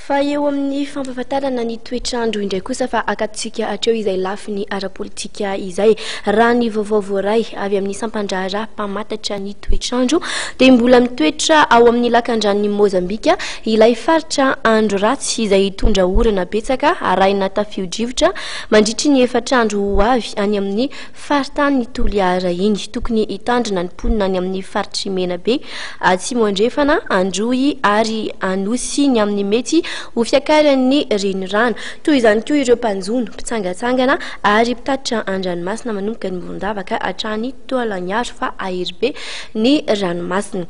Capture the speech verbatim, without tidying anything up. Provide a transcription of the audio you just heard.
Fa eo amin'ny fampahafantarana ny toetr'andro indray kosa, fa akatontsika hatreo izay lafiny ara-politika izay. Raha ny vaovao voaray avy amin'ny sampandraharaha mpamantatra ny toetr'andro, dia mbola mitoetra ao amin'ny lakandranon'i Mozambika ilay faritra andro ratsy izay hitondra orana betsaka arahina tafio-drivotra mandritry ny efatra andro ho avy any amin'ny faritany Toliara iny. Tokony hitandrina ny mponina any amin'ny faritry Menabe, Atsimo Andrefana, Androy ary Anosy ny amin'ny mety ho fiakaran'ny renirano. Toy izany koa ireo mpanjono, mpitsangatsangana ary mpitatitra an-dranomasina manomboka ny Morondava ka hatrany Taolagnaro, fa hahery be ny ranomasina.